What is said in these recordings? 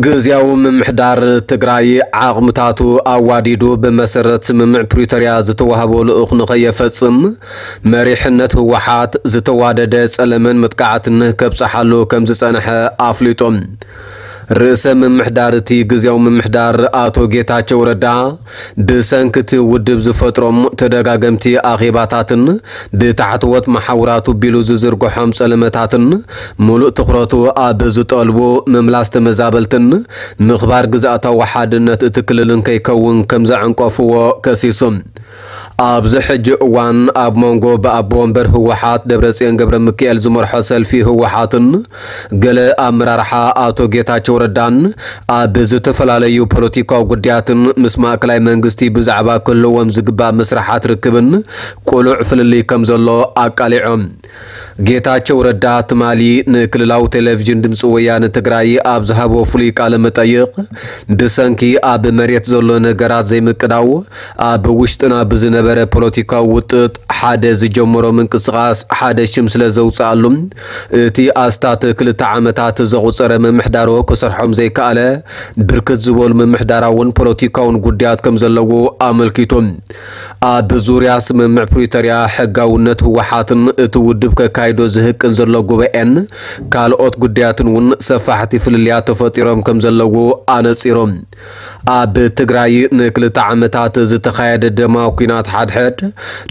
ግዝያዊ ምምሕዳር ትግራይ ዓቕምታቱ ኣዋዲዱ ብመሰረት ስምምዕ ፕሪቶርያ ዝተዋህቦ ልኡኽ ንኸየፈጽም መሪሕነት ህወሓት ዝተዋደደ ጸለመን መጥቃዕትን ከብጽሓሉ ከም ዝጸንሐ ኣፍሊጡ። ርእሰ ምምሕዳር እቲ ግዝያዊ ምምሕዳር ኣቶ ጌታቸው ረዳ ብሰንኪ እቲ ውድብ ዝፈጥሮም ተደጋገምቲ ኣኼባታትን ብታሕተዎት መሓውራቱ ቢሉ ዝዝርግሖም ጸለመታትን ምሉእ ትኹረቱ ኣብ ዝጠልቡ ምምላስ ተመዛበልትን ምኽባር ግዝኣታዊ ሓድነት እቲ ክልልን ከይከውን ከም ዘዕንቀፍዎ ከሲሱ። ኣብዚ ሕጂ እዋን ኣብ መንጎ ብኣቦ ወንበር ህወሓት ደብረጽዮን ገብረ ሚካኤል ዝመርሖ ሰልፊ ህወሓትን ገለ ኣመራርሓ ኣቶ ጌታቸው ረዳን ኣብ ዝተፈላለዩ ፖለቲካዊ ጉዳያትን ምስ ማእከላይ መንግስቲ ብዛዕባ ክህልዎም ዝግባእ መስርሓት ርክብን ቅሉዕ ፍልልይ ከም ዘሎ ኣቃሊዖም። ጌታቸው ረዳ ትማሊ ንክልላዊ ቴሌቪዥን ድምፂ ወያነ ትግራይ ኣብ ዝሃቦ ፍሉይ ቃለ መጠይቕ፣ ብሰንኪ ኣብ መሬት ዘሎ ነገራት ዘይምቅዳው፣ ኣብ ውሽጥና ብዝነበረ ፖለቲካዊ ውጥጥ ሓደ ዝጀመሮ ምንቅስቓስ ሓደ ሽም ስለ ዘውፅኣሉ፣ እቲ ኣስታት ክልተ ዓመታት ዘቑፀረ ምምሕዳሩ ክሰርሖም ዘይከኣለ ብርክት ዝበሉ ምምሕዳራውን ፖለቲካውን ጉዳያት ከም ዘለዎ ኣመልኪቱ። ኣብ ዙርያ ስምምዕ ፕሪቶርያ ሕጋውነት ህወሓትን እቲ ውድብ ከካይዶ ዝህቅን ዘሎ ጉባኤን ካልኦት ጉዳያትን እውን ሰፋሕቲ ፍልልያት ተፈጢሮም ከም ዘለዉ ኣነፂሮም። ኣብ ትግራይ ንክልተ ዓመታት ዝተኻየደ ደማዊ ኲናት ሓድሕድ፣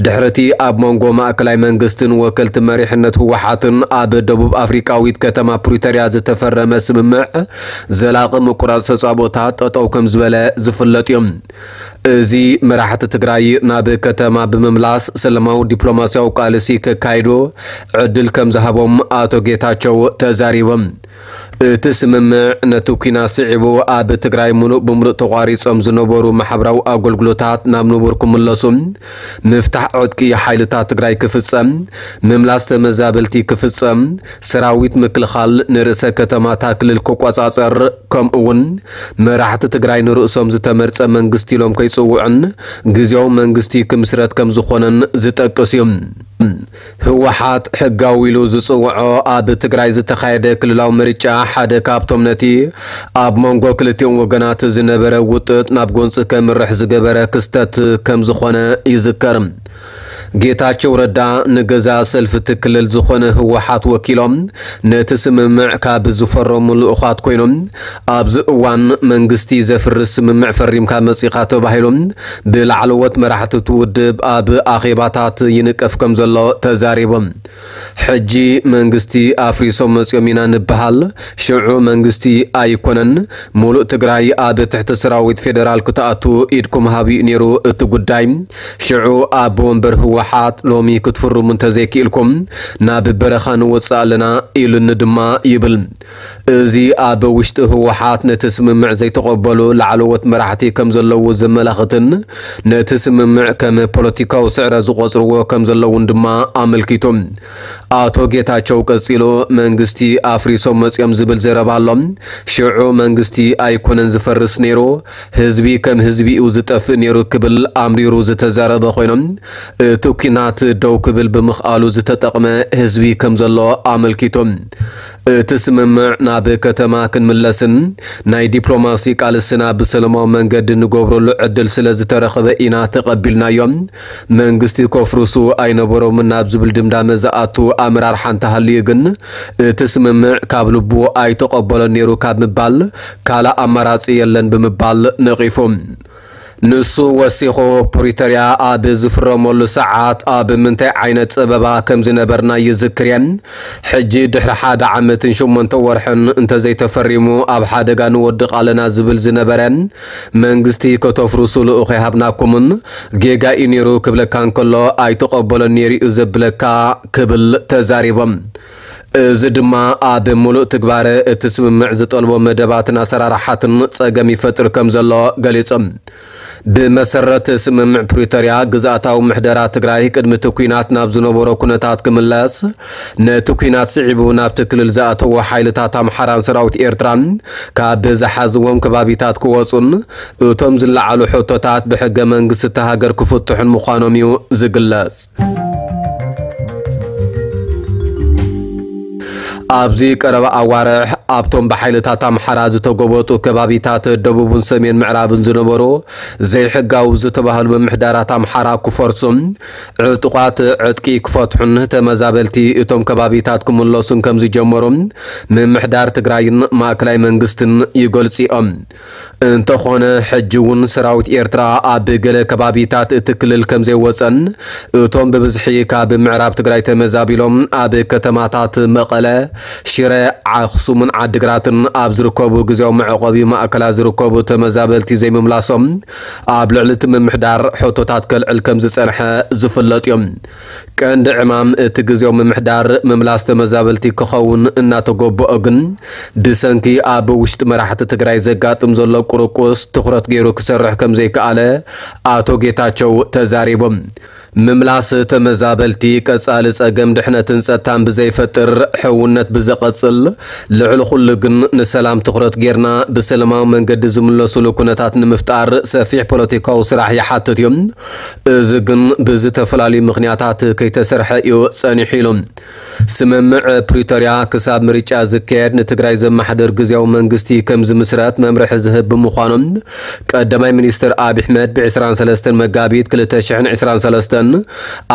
ድሕሪ እቲ ኣብ መንጎ ማእከላይ መንግስትን ወከልቲ መሪሕነት ህወሓትን ኣብ ደቡብ ኣፍሪቃዊት ከተማ ፕሪቶርያ ዝተፈረመ ስምምዕ፣ ዘላቒ ምቁራጽ ተጻብኦታት ጠጠው ከም ዝበለ ዝፍለጥ እዩ። እዚ መራሕቲ ትግራይ ናብ ከተማ ብምምላስ ሰላማዊ ዲፕሎማሲያዊ ቃልሲ ከካይዱ ዕድል ከም ዝሃቦም ኣቶ ጌታቸው ተዛሪቦም። እቲ ስምምዕ ነቲ ኲናት ስዒቡ ኣብ ትግራይ ምሉእ ብምሉእ ተቋሪጾም ዝነበሩ ማሕበራዊ ኣገልግሎታት ናብ ንቡር ክምለሱ፣ ምፍታሕ ዕጥቂ ሓይልታት ትግራይ ክፍጸም፣ ምምላስ ተመዛበልቲ ክፍጸም፣ ሰራዊት ምክልኻል ንርእሰ ከተማታ ክልል ክቆጻጸር፣ ከምኡ እውን መራሕቲ ትግራይ ንርእሶም ዝተመርጸ መንግስቲ ኢሎም ከይጽውዑን ግዝያዊ መንግስቲ ክምስረት ከም ዝኾነን ዝጠቅስ እዩ። ህወሓት ሕጋዊ ኢሉ ዝጽውዖ ኣብ ትግራይ ዝተኻየደ ክልላዊ ምርጫ ሓደ ካብቶም ነቲ ኣብ መንጎ ክልቲኦም ወገናት ዝነበረ ውጥጥ ናብ ጎንፂ ከምርሕ ዝገበረ ክስተት ከም ዝኾነ ይዝከር። ጌታቸው ረዳ ንገዛ ሰልፊ እቲ ክልል ዝኾነ ህወሓት ወኪሎም ነቲ ስምምዕ ካብ ዝፈረሙ ልኡኻት ኮይኖም፣ ኣብዚ እዋን መንግስቲ ዘፍርስ ስምምዕ ፈሪምካ መጺኻ ተባሂሉ ብላዕለዎት መራሕቲ እቲ ውድብ ኣብ ኣኼባታት ይንቀፍ ከም ዘሎ ተዛሪቦም። ሕጂ መንግስቲ ኣፍሪሶም መጺኦም ኢና ንበሃል፣ ሽዑ መንግስቲ ኣይኮነን፣ ሙሉእ ትግራይ ኣብ ትሕቲ ሰራዊት ፌደራል ክትኣቱ ኢድኩም ሃብ እዩ ነይሩ እቲ ጉዳይ። ሽዑ ኣቦ ወንበር ህወሓት ሎሚ ክትፍርሙ እንተዘይክኢልኩም ናብ በረኻ ንወፅእ ኣለና ኢሉኒ ድማ ይብል። እዚ ኣብ ውሽጢ ህወሓት ነቲ ስምምዕ ዘይተቐበሉ ላዕለዎት መራሕቲ ከም ዘለዉ ዘመላኽትን ነቲ ስምምዕ ከም ፖለቲካዊ ስዕረት ዝቖጽርዎ ከም ዘለዉን ድማ ኣመልኪቱ። ኣቶ ጌታቸው ቀጺሉ፣ መንግስቲ ኣፍሪሶም መጺኦም ዝብል ዘረባ ኣሎ። ሽዑ መንግስቲ ኣይኮነን ዝፈርስ ነይሩ፣ ህዝቢ ከም ህዝቢ እዩ ዝጠፍእ ነይሩ ክብል ኣምሪሩ ዝተዛረበ ኮይኖም፣ እቲ ኲናት ደው ክብል ብምኽኣሉ ዝተጠቕመ ህዝቢ ከም ዘሎ ኣመልኪቱ። እቲ ስምምዕ ናብ ከተማ ክንምለስን ናይ ዲፕሎማሲ ቃልስና ብሰላማዊ መንገዲ ንገብረሉ ዕድል ስለ ዝተረኸበ ኢና ተቐቢልናዮ። መንግስቲ ከፍርሱ ኣይነበሮምን ናብ ዝብል ድምዳመ ዝኣቱ ኣመራርሓ እንተሃልዩ ግን፣ እቲ ስምምዕ ካብ ልቡ ኣይተቐበሎን ነይሩ ካብ ምባል ካልእ ኣማራጺ የለን ብምባል ነቒፉ። ንሱ ወሲኹ፣ ፕሪቶርያ ኣብ ዝፍረመሉ ሰዓት ኣብ ምንታይ ዓይነት ጸበባ ከም ዝነበርና ይዝክር እየ። ሕጂ ድሕሪ ሓደ ዓመትን ሸሞንተ ወርሕን እንተዘይተፈሪሙ ኣብ ሓደጋ ንወድቕ ኣለና ዝብል ዝነበረ መንግስቲ ከተፍርሱ ልኡኽ ኣይሃብናኩምን፣ ጌጋ እዩ ነይሩ ክብለካ እንከሎ ኣይተቐበሎን ነይሩ እዩ ዘብለካ ክብል ተዛሪቦም። እዚ ድማ ኣብ ምሉእ ትግባረ እቲ ስምምዕ ዝጠልቦ መደባትን ኣሰራርሓትን ጸገም ይፈጥር ከም ዘሎ ገሊጾም። ብመሰረት ስምምዕ ፕሪቶርያ፣ ግዝኣታዊ ምሕደራ ትግራይ ቅድሚ እቲ ኲናት ናብ ዝነበሮ ኩነታት ክምለስ፣ ነቲ ኲናት ስዒቡ ናብቲ ክልል ዝኣተዉ ሓይልታት ኣምሓራን ሰራዊት ኤርትራን ካብ ዝሓዝዎም ከባቢታት ክወጹን፣ እቶም ዝለዓሉ ሕቶታት ብሕገ መንግስቲ እታ ሃገር ክፍትሑን ምዃኖም እዩ ዝግለጽ። ኣብዚ ቀረባ ኣዋርሕ ኣብቶም ብሓይልታት ኣምሓራ ዝተጎበጡ ከባቢታት ደቡብን ሰሜን ምዕራብን ዝነበሩ ዘይሕጋዊ ዝተባህሉ ምምሕዳራት ኣምሓራ ክፈርሱን ዕጡቓት ዕጥቂ ክፈትሑን ተመዛበልቲ እቶም ከባቢታት ክምለሱን ከም ዝጀመሩ ምምሕዳር ትግራይን ማእከላይ መንግስትን ይገልጹ እዮም። እንተኾነ፣ ሕጂ እውን ሰራዊት ኤርትራ ኣብ ገለ ከባቢታት እቲ ክልል ከም ዘይወጸን እቶም ብብዝሒ ካብ ምዕራብ ትግራይ ተመዛቢሎም ኣብ ከተማታት መቐለ፣ ሽረ፣ ኣኽሱምን ዓድግራትን ኣብ ዝርከቡ ግዜያዊ መዕቆቢ ማእከላት ዝርከቡ ተመዛበልቲ ዘይምምላሶም ኣብ ልዕሊ እቲ ምምሕዳር ሕቶታት ከልዕል ከም ዝጸንሐ ዝፍለጥ እዮም። ቀንዲ ዕማም እቲ ግዜያዊ ምምሕዳር ምምላስ ተመዛበልቲ ክኸውን እናተገበኦ ግን፣ ብሰንኪ ኣብ ውሽጢ መራሕቲ ትግራይ ዘጋጥም ዘሎ ቁርቁስ ትኹረት ገይሩ ክሰርሕ ከም ዘይከኣለ ኣቶ ጌታቸው ተዛሪቦም። ምምላስ ተመዛበልቲ ቀጻሊ ጸገም ድሕነትን ጸጥታን ብዘይፈጥር፣ ሕውነት ብዘቐጽል፣ ልዕሊ ኩሉ ግን ንሰላም ትኹረት ጌርና ብሰላማዊ መንገዲ ዝምለሱሉ ኩነታት ንምፍጣር ሰፊሕ ፖለቲካዊ ስራሕ ይሓትት እዩ። እዚ ግን ብዝተፈላለዩ ምኽንያታት ከይተሰርሐ እዩ ጸኒሑ ኢሉ። ስምምዕ ፕሪቶርያ ክሳብ ምርጫ ዝካየድ ንትግራይ ዘመሓድር ግዜያዊ መንግስቲ ከም ዝምስረት መምርሒ ዝህብ ብምዃኑ፣ ቀዳማይ ሚኒስትር ኣብይ ኣሕመድ ብ ዕስራን ሰለስተን መጋቢት ክልተ ሽሕን ዕስራን ሰለስተን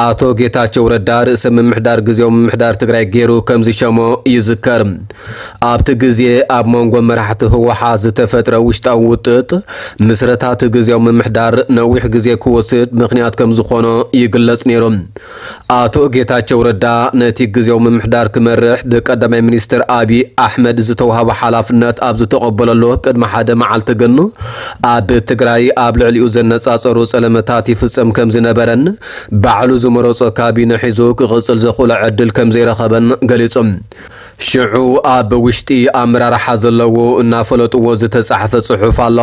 ኣቶ ጌታቸው ረዳ ርእሰ ምምሕዳር ግዜያዊ ምምሕዳር ትግራይ ገይሩ ከም ዝሸሞ ይዝከር። ኣብቲ ግዜ ኣብ መንጎ መራሕቲ ህወሓት ዝተፈጥረ ውሽጣዊ ውጥጥ ምስረታ እቲ ግዜያዊ ምምሕዳር ነዊሕ ግዜ ክወስድ ምኽንያት ከም ዝኾኖ ይግለጽ ነይሩ። ኣቶ ጌታቸው ረዳ ነቲ ግዜያዊ ምምሕዳር ክመርሕ ብቀዳማይ ሚኒስትር ኣብይ ኣሕመድ ዝተዋህቦ ሓላፍነት ኣብ ዝተቐበለሉ ቅድሚ ሓደ መዓልቲ ግን ኣብ ትግራይ ኣብ ልዕሊኡ ዘነጻጸሩ ጸለመታት ይፍጸም ከም ዝነበረን ባዕሉ ዝመረጾ ካቢነ ሒዙ ክቕጽል ዘኽእሎ ዕድል ከም ዘይረኸበን ገሊጹ። ሽዑ ኣብ ውሽጢ ኣመራርሓ ዘለዎ እናፈለጥዎ ዝተጻሕፈ ጽሑፍ ኣሎ።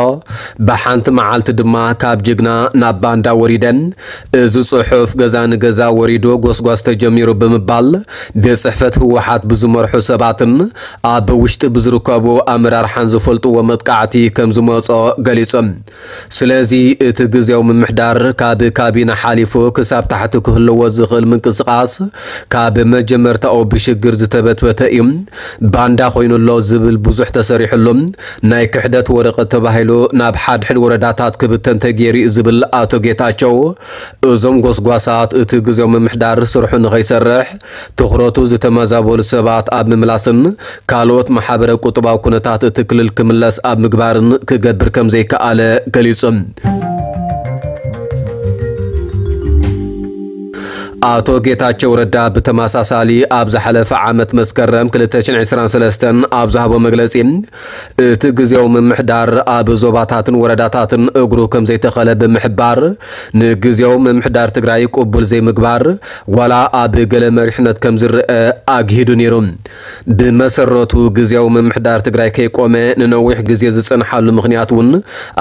ብሓንቲ መዓልቲ ድማ ካብ ጅግና ናብ ባንዳ ወሪደን። እዚ ጽሑፍ ገዛ ንገዛ ወሪዱ ጎስጓስ ተጀሚሩ ብምባል ቤት ጽሕፈት ህወሓት ብዝመርሑ ሰባትን ኣብ ውሽጢ ብዝርከቡ ኣመራርሓን ዝፈልጥዎ መጥቃዕቲ ከም ዝመጾ ገሊጹ። ስለዚ እቲ ግዜያዊ ምምሕዳር ካብ ካቢነ ሓሊፉ ክሳብ ታሕቲ ክህልዎ ዝኽእል ምንቅስቓስ ካብ መጀመርታኡ ብሽግር ዝተበትበተ እዩ። ባንዳ ኮይኑ ኣሎ ዝብል ብዙሕ ተሰሪሕሉ፣ ናይ ክሕደት ወረቐት ተባሂሉ ናብ ሓድሕድ ወረዳታት ክብተን ተገይሩ እዩ ዝብል ኣቶ ጌታቸው፣ እዞም ጎስጓሳት እቲ ግዜያዊ ምምሕዳር ስርሑ ንኸይሰርሕ ትኹረቱ ዝተመዛበሉ ሰባት ኣብ ምምላስን ካልኦት ማሕበረ ቁጠባዊ ኩነታት እቲ ክልል ክምለስ ኣብ ምግባርን ክገብር ከም ዘይከኣለ ገሊጹ። ኣቶ ጌታቸው ረዳ ብተመሳሳሊ ኣብ ዝሓለፈ ዓመት መስከረም ክልተ ሽሕን ዕስራን ሰለስተን ኣብ ዝሃቦ መግለጺ፣ እቲ ግዜያዊ ምምሕዳር ኣብ ዞባታትን ወረዳታትን እግሩ ከም ዘይተኸለ ብምሕባር፣ ንግዜያዊ ምምሕዳር ትግራይ ቅቡል ዘይምግባር ዋላ ኣብ ገለ መሪሕነት ከም ዝረአ ኣግሂዱ ነይሩ። ብመሰረቱ ግዜያዊ ምምሕዳር ትግራይ ከይቆመ ንነዊሕ ግዜ ዝጸንሓሉ ምኽንያት እውን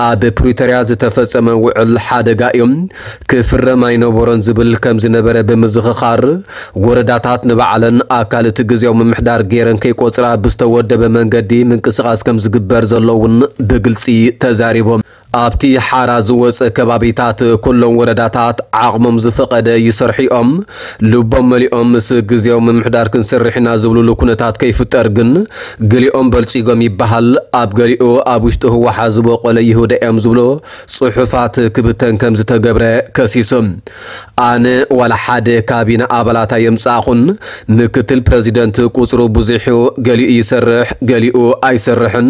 ኣብ ፕሪቶርያ ዝተፈጸመ ውዕል ሓደጋ እዩ፣ ክፍረም ኣይነበሮን ዝብል ከም ዝነበረ ብምዝኽኻር፣ ወረዳታት ንባዕለን ኣካል እቲ ግዜያዊ ምምሕዳር ገይረን ከይቆጽራ ብዝተወደበ መንገዲ ምንቅስቓስ ከም ዝግበር ዘሎ እውን ብግልጺ ተዛሪቦም። ኣብቲ ሓራ ዝወጸ ከባቢታት ኩሎም ወረዳታት ዓቕሞም ዝፈቐደ ይሰርሑ እዮም፣ ልቦም መሊኦም ምስ ግዜያዊ ምምሕዳር ክንሰርሕ ኢና ዝብሉሉ ኩነታት ከይፍጠር ግን ገሊኦም በልጺጎም ይበሃል፣ ኣብ ገሊኡ ኣብ ውሽጢ ህወሓት ዝበቖለ ይሁዳ እዮም ዝብሉ ጽሑፋት ክብተን ከም ዝተገብረ ከሲሱ። ኣነ ዋላ ሓደ ካቢነ ኣባላት ኣየምጻእኹን። ምክትል ፕረዚደንት ቁጽሩ ብዙሕ እዩ፣ ገሊኡ ይሰርሕ፣ ገሊኡ ኣይሰርሕን።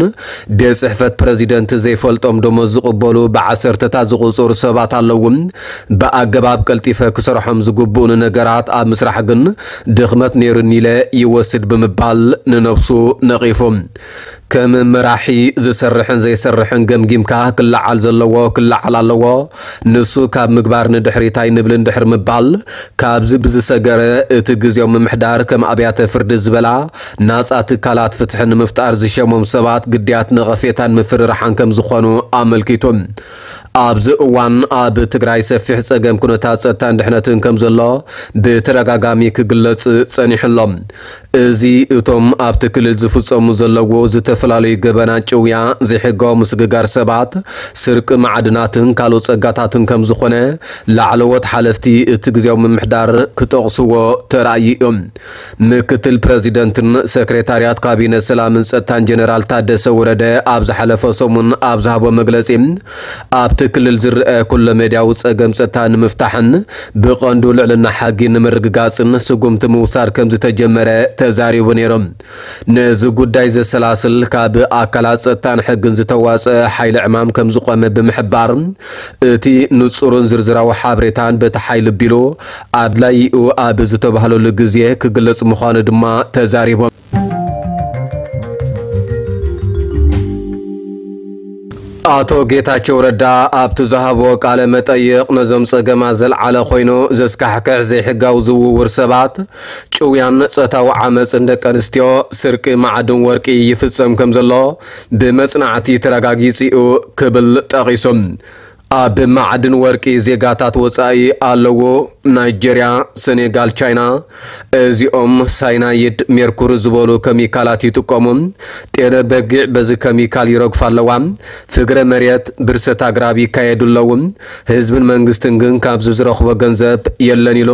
ቤት ጽሕፈት ፕረዚደንት ዘይፈልጦም ደሞዝ ዝቕበሉ ብዓሰርተታት ዝቑጸሩ ሰባት ኣለዉ። ብኣገባብ ቀልጢፈ ክሰርሖም ዝግብኡኒ ነገራት ኣብ ምስራሕ ግን ድኽመት ነይሩኒ ኢለ ይወስድ ብምባል ንነብሱ ነቒፉ። ከም መራሒ ዝሰርሕን ዘይሰርሕን ገምጊምካ ክለዓል ዘለዎ ክለዓል ኣለዎ። ንሱ ካብ ምግባር ንድሕሪት ኣይንብልን ድሕሪ ምባል፣ ካብዚ ብዝሰገረ እቲ ግዜያዊ ምምሕዳር ከም ኣብያተ ፍርዲ ዝበላ ናጻ ትካላት ፍትሒ ንምፍጣር ዝሸሞም ሰባት ግዳያት ነቐፌታን ምፍርራሕን ከም ዝኾኑ ኣመልኪቱ። ኣብዚ እዋን ኣብ ትግራይ ሰፊሕ ጸገም ኩነታት ጸጥታን ድሕነትን ከም ዘሎ ብተደጋጋሚ ክግለጽ ጸኒሑ ኣሎ። እዚ እቶም ኣብቲ ክልል ዝፍጸሙ ዘለዉ ዝተፈላለዩ ገበናት ጭውያ፣ ዘይሕጋዊ ምስግጋር ሰባት፣ ስርቂ ማዕድናትን ካልኦት ጸጋታትን ከም ዝኾነ ላዕለዎት ሓለፍቲ እቲ ግዜያዊ ምምሕዳር ክጠቕስዎ ተራእዩ እዮም። ምክትል ፕረዚደንትን ሰክሬታርያት ካቢነ ሰላምን ጸጥታን ጀነራል ታደሰ ወረደ ኣብ ዝሓለፈ ሰሙን ኣብ ዝሃቦ መግለጺ፣ ኣብቲ ክልል ዝረኣ ኩለ መዳያዊ ጸገም ጸጥታ ንምፍታሕን ብቐንዱ ልዕልና ሕጊ ንምርግጋጽን ስጉምቲ ምውሳድ ከም ዝተጀመረ ተዛሪቡ ነይሩ። ነዚ ጉዳይ ዘሰላስል ካብ ኣካላት ጸጥታን ሕግን ዝተዋጸአ ሓይሊ ዕማም ከም ዝቖመ ብምሕባር፣ እቲ ንጹርን ዝርዝራዊ ሓበሬታን በቲ ሓይሊ ቢሉ ኣድላዪኡ ኣብ ዝተባህለሉ ግዜ ክግለጽ ምዃኑ ድማ ተዛሪቦም። ኣቶ ጌታቸው ረዳ ኣብቲ ዝሃቦ ቃለ መጠይቕ፣ ነዞም ጸገማት ዘልዓለ ኮይኑ ዘስካሕክሕ ዘይሕጋዊ ዝውውር ሰባት፣ ጭውያን ጾታዊ ዓመጽን ደቂ ኣንስትዮ፣ ስርቂ ማዕድን ወርቂ ይፍጸም ከም ዘሎ ብመጽናዕቲ ተረጋጊጹ ክብል ጠቒሱ። ኣብ ማዕድን ወርቂ ዜጋታት ወጻኢ ኣለዎ። ናይጀርያ፣ ሰኔጋል፣ ቻይና፣ እዚኦም ሳይናይድ፣ ሜርኩሪ ዝበሉ ከሚካላት ይጥቀሙ። ጤለ በጊዕ በዚ ከሚካል ይረግፋ ኣለዋ። ፍግረ መሬት፣ ብርሰት ኣግራብ ይካየዱ ኣለዉ። ህዝብን መንግስትን ግን ካብዚ ዝረኽቦ ገንዘብ የለን ኢሉ።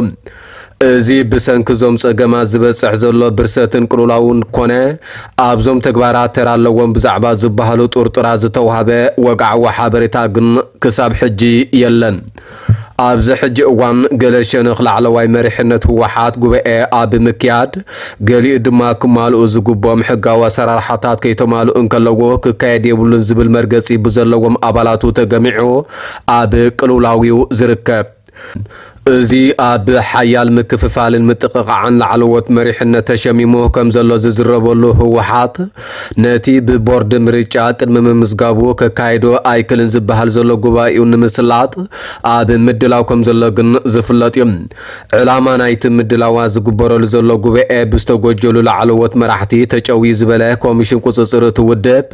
እዚ ብሰንኪ እዞም ጸገማት ዝበጽሕ ዘሎ ብርሰትን ቅልውላውን ኮነ ኣብዞም ተግባራት ተራ ኣለዎም ብዛዕባ ዝበሃሉ ጥርጡራት ዝተዋህበ ወግዓዊ ሓበሬታ ግን ክሳብ ሕጂ የለን። ኣብዚ ሕጂ እዋን ገለ ሸነኽ ላዕለዋይ መሪሕነት ህወሓት ጉባኤ ኣብ ምክያድ፣ ገሊኡ ድማ ክማልኡ ዝግብኦም ሕጋዊ ኣሰራርሓታት ከይተማልኡ እንከለዎ ክካየድ የብሉን ዝብል መርገጺ ብዘለዎም ኣባላቱ ተገሚዑ ኣብ ቅልውላው'ዩ ዝርከብ። እዚ ኣብ ሓያል ምክፍፋልን ምጥቕቓዕን ላዕለዎት መሪሕነት ተሸሚሙ ከም ዘሎ ዝዝረበሉ ህወሓት፣ ነቲ ብቦርድ ምርጫ ቅድሚ ምምዝጋቡ ከካይዶ ኣይክልን ዝበሃል ዘሎ ጉባኤኡ ንምስላጥ ኣብ ምድላው ከም ዘሎ ግን ዝፍለጥ እዩ። ዕላማ ናይቲ ምድላዋት ዝግበረሉ ዘሎ ጉባኤ ብዝተጎጀሉ ላዕለዎት መራሕቲ ተጨውዩ ዝበለ ኮሚሽን ቁጽጽር እቲ ውድብ፣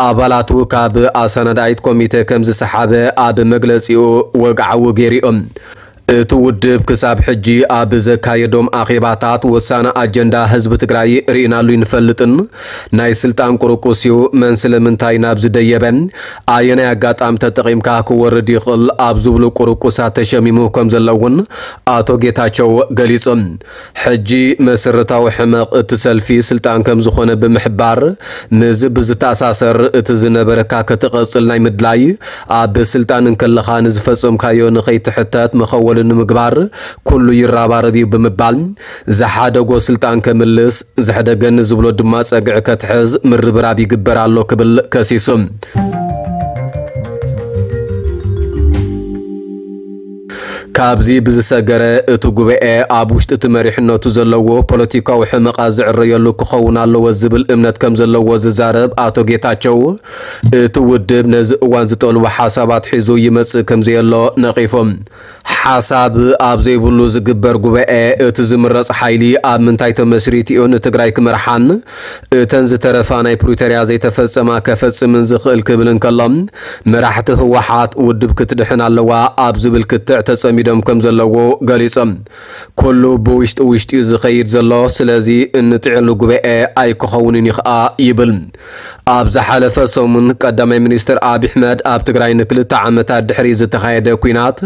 ኣባላቱ ካብ ኣሰናዳኢት ኮሚተ ከም ዝሰሓበ ኣብ መግለጺኡ ወግዓዊ ገይሩ እዩ። እቲ ውድብ ክሳብ ሕጂ ኣብ ዘካየዶም ኣኼባታት ወሳኒ ኣጀንዳ ህዝቢ ትግራይ ርኢናሉ ይንፈልጥን፣ ናይ ስልጣን ቁርቁስ እዩ፣ መን ስለምንታይ ናብዚ ደየበ፣ ኣየናይ ኣጋጣሚ ተጠቒምካ ክወርድ ይኽእል ኣብ ዝብሉ ቁርቁሳት ተሸሚሙ ከም ዘሎ እውን ኣቶ ጌታቸው ገሊጹ። ሕጂ መሰረታዊ ሕመቕ እቲ ሰልፊ ስልጣን ከም ዝኾነ ብምሕባር፣ ምስዚ ብዝተኣሳሰር እቲ ዝነበረካ ከተቐጽል ናይ ምድላይ፣ ኣብ ስልጣን እንከለኻ ንዝፈጸምካዮ ንኸይትሕተት መኸወሊ ንምግባር ኩሉ ይረባረብ እዩ ብምባል፣ ዝሓደጎ ስልጣን ከምልስ፣ ዝሕደገኒ ዝብሎ ድማ ጸግዒ ከትሕዝ ምርብራብ ይግበር ኣሎ ክብል ከሲሱ። ካብዚ ብዝሰገረ፣ እቲ ጉባኤ ኣብ ውሽጢ እቲ መሪሕነቱ ዘለዎ ፖለቲካዊ ሕመቓት ዝዕረየሉ ክኸውን ኣለዎ ዝብል እምነት ከም ዘለዎ ዝዛረብ ኣቶ ጌታቸው፣ እቲ ውድብ ነዚ እዋን ዝጠልቦ ሓሳባት ሒዙ ይመጽእ ከም ዘየሎ ነቒፉ። ሓሳብ ኣብ ዘይብሉ ዝግበር ጉባኤ፣ እቲ ዝምረጽ ሓይሊ ኣብ ምንታይ ተመስሪቱ እዩ ንትግራይ ክመርሓን እተን ዝተረፋ ናይ ፕሪቶርያ ዘይተፈጸማ ከፈጽምን ዝኽእል ክብል እንከሎ፣ መራሕቲ ህወሓት ውድብ ክትድሕን ኣለዋ ኣብ ዝብል ክትዕ ተጸሚዶም ከም ዘለዉ ገሊጾም። ኩሉ ብውሽጢ ውሽጢ እዩ ዝኸይድ ዘሎ፣ ስለዚ እንጥዕሉ ጉባኤ ኣይክኸውንን እዩ ኸኣ ይብል። ኣብ ዝሓለፈ ሰሙን ቀዳማይ ሚኒስትር ኣብይ ኣሕመድ ኣብ ትግራይ ንክልተ ዓመታት ድሕሪ ዝተኻየደ ኲናት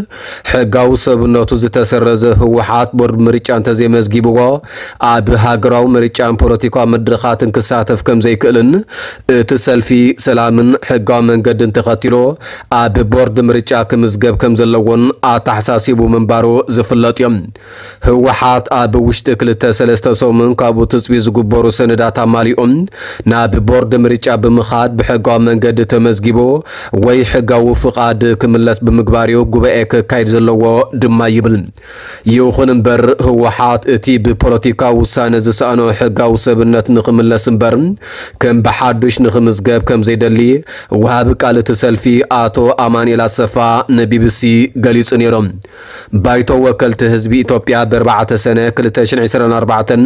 ሕጋዊ ሰብነቱ ዝተሰረዘ ህወሓት ቦርድ ምርጫ እንተዘይመዝጊብዎ ኣብ ሃገራዊ ምርጫን ፖለቲካዊ መድረኻትን ክሳተፍ ከም ዘይክእልን እቲ ሰልፊ ሰላምን ሕጋዊ መንገድን ተኸቲሉ ኣብ ቦርድ ምርጫ ክምዝገብ ከም ዘለዎን ኣተሓሳሲቡ ምንባሩ ዝፍለጥ እዩ። ህወሓት ኣብ ውሽጢ ክልተ ሰለስተ ሰሙን ካብኡ ትፅቢት ዝግበሩ ሰነዳት ኣማሊኦም ናብ ቦርድ ምርጫ ብምኻድ ብሕጋዊ መንገዲ ተመዝጊቡ ወይ ሕጋዊ ፍቓድ ክምለስ ብምግባር እዩ ጉባኤ ክካየድ ዘለዎ ድማ ይብል። ይኹን እምበር ህወሓት እቲ ብፖለቲካዊ ውሳነ ዝሰኣኖ ሕጋዊ ሰብነት ንኽምለስ እምበር ከም ብሓዱሽ ንኽምዝገብ ከም ዘይደሊ ወሃቢ ቃል እቲ ሰልፊ ኣቶ ኣማኑኤል ኣሰፋ ንቢቢሲ ገሊጹ ነይሩ። ባይቶ ወከልቲ ህዝቢ ኢትዮጵያ ብኣርባዕተ ሰነ ክልተ ሽሕን ዕስራን ኣርባዕተን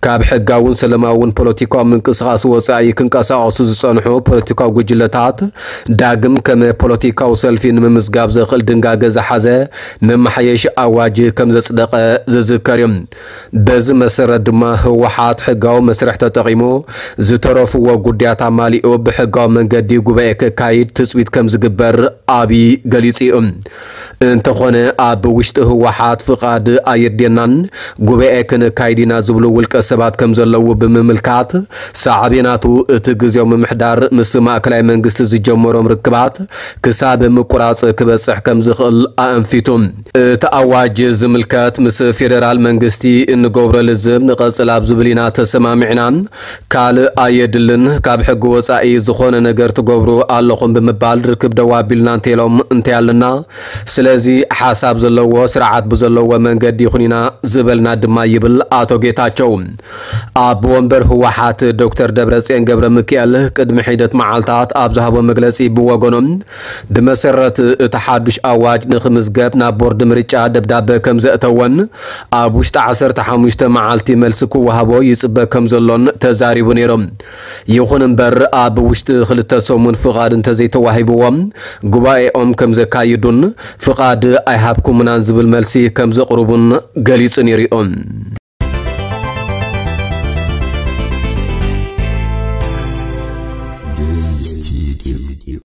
ካብ ሕጋውን ሰላማውን ፖለቲካዊ ምንቅስቓስ ወጻኢ ክንቀሳቐሱ ዝጸንሑ ፖለቲካዊ ጉጅለታት ዳግም ከም ፖለቲካዊ ሰልፊ ንምምዝጋብ ዘኽእል ድንጋገ ዝሓዘ መመሓየሺ ኣዋጅ ከም ዘጽደቐ ዝዝከር እዩ። በዚ መሰረት ድማ ህወሓት ሕጋዊ መስርሕ ተጠቒሙ ዝተረፍዎ ጉዳያት ኣማሊኡ ብሕጋዊ መንገዲ ጉባኤ ከካይድ ትጽቢት ከም ዝግበር ኣብይ ገሊጹ እዩ። እንተኾነ ኣብ ውሽጢ ህወሓት ፍቓድ ኣየድልየናን ጉባኤ ክነካይድ ኢና ዝብሉ ውልቀ ሰባት ከም ዘለዉ ብምምልካት ሳዕቤናቱ እቲ ግዜያዊ ምምሕዳር ምስ ማእከላይ መንግስቲ ዝጀመሮም ርክባት ክሳብ ምቁራጽ ክበጽሕ ከም ዝኽእል ኣእንፊቱ። እቲ ኣዋጅ ዝምልከት ምስ ፌደራል መንግስቲ እንገብሮ ልዝብ ንቐጽል ኣብ ዝብል ኢና ተሰማሚዕና። ካልእ ኣየድልን፣ ካብ ሕጊ ወጻኢ ዝኾነ ነገር ትገብሩ ኣለኹም ብምባል ርክብ ደው ኣቢልና እንተኢሎም እንታይ ኣለና። ስለዚ ሓሳብ ዘለዎ ስርዓት ብዘለዎ መንገዲ ይኹን ኢና ዝበልና ድማ ይብል ኣቶ ጌታቸው። ኣብ ወንበር ህወሓት ዶክተር ደብረጽዮን ገብረ ሚካኤል ቅድሚ ሒደት መዓልታት ኣብ ዝሃቦ መግለጺ ብወገኖም ብመሰረት እቲ ሓዱሽ ኣዋጅ ንኽምዝገብ ናብ ቦርድ ምርጫ ደብዳበ ከም ዘእተወን ኣብ ውሽጢ ዓሰርተ ሓሙሽተ መዓልቲ መልሲ ክወሃቦ ይጽበ ከም ዘሎን ተዛሪቡ ነይሩ። ይኹን እምበር ኣብ ውሽጢ ክልተ ሰሙን ፍቓድ እንተዘይተዋሂብዎም ጉባኤኦም ከም ዘካይዱን ፍቓድ ኣይሃብኩምናን ዝብል መልሲ ከም ዘቕርቡን ገሊጹ ነይሩ።